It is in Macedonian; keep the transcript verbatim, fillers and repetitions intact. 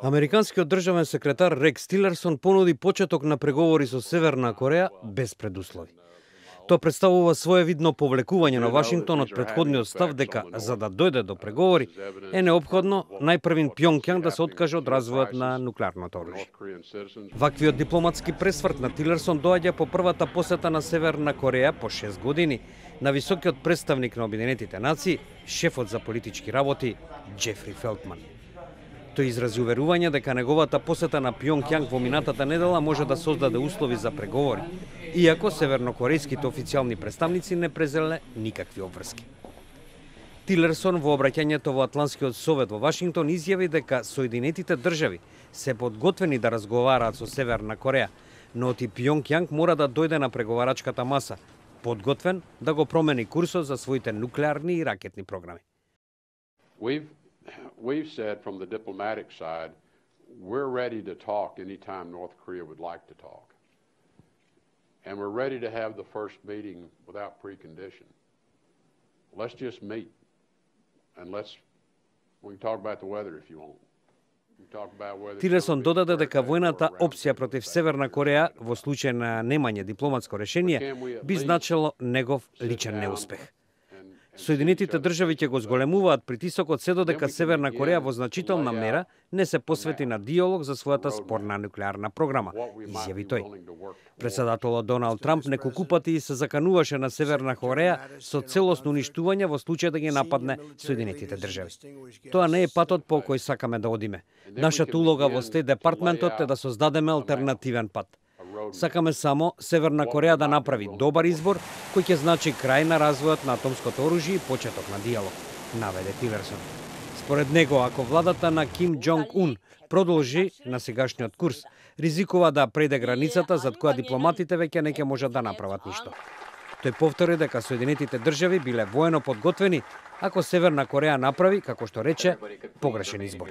Американскиот државен секретар Рекс Тилерсон понуди почеток на преговори со Северна Кореја без предуслови. Тоа представува своевидно повлекување на Вашингтон од претходниот став дека за да дојде до преговори е неопходно најпрвин Пјонкјанг да се откаже од развојот на нуклеарното оружје. Ваквиот дипломатски пресврт на Тилерсон доаѓа по првата посета на Северна Кореја по шест години на високиот представник на Обединетите нации, шефот за политички работи Џефри Фелтман. Тој изрази уверување дека неговата посета на Пјонкјанг во минатата недела може да создаде услови за преговори, иако севернокорејските официјални представници не презеле никакви обврски. Тилерсон во обраќањето во Атлантскиот совет во Вашингтон изјави дека Соединетите држави се подготвени да разговараат со Северна Кореја, но и Пјонкјанг мора да дојде на преговарачката маса, подготвен да го промени курсот за своите нуклеарни и ракетни програми. We've We've said from the diplomatic side, we're ready to talk anytime North Korea would like to talk. And we're ready to have the first meeting without precondition. Let's just meet. And let's, we can talk about the weather if you want. Тилерсон додаде дека војната опција против Северна Кореја во случај на немање дипломатско решение би значило негов личен неуспех. Соединетите држави ќе го зголемуваат притисокот се додека Северна Кореја во значителна мера не се посвети на диалог за својата спорна нуклеарна програма, изјави тој. Претседателот Доналд Трамп неколку пати се закануваше на Северна Кореја со целосно уништување во случај да ги нападне Соединетите држави. Тоа не е патот по кој сакаме да одиме. Нашата улога во Стейт департментот е да создадеме алтернативен пат. Сакаме само Северна Кореја да направи добар избор кој ќе значи крај на развојот на атомското оружје и почеток на диалог, наведе Тилерсон. Според него, ако владата на Ким Џонг Ун продолжи на сегашниот курс, ризикува да преде границата зад која дипломатите веќе не ќе можат да направат ништо. Тој повтори дека Соединетите држави биле воено подготвени ако Северна Кореја направи, како што рече, погрешен избор.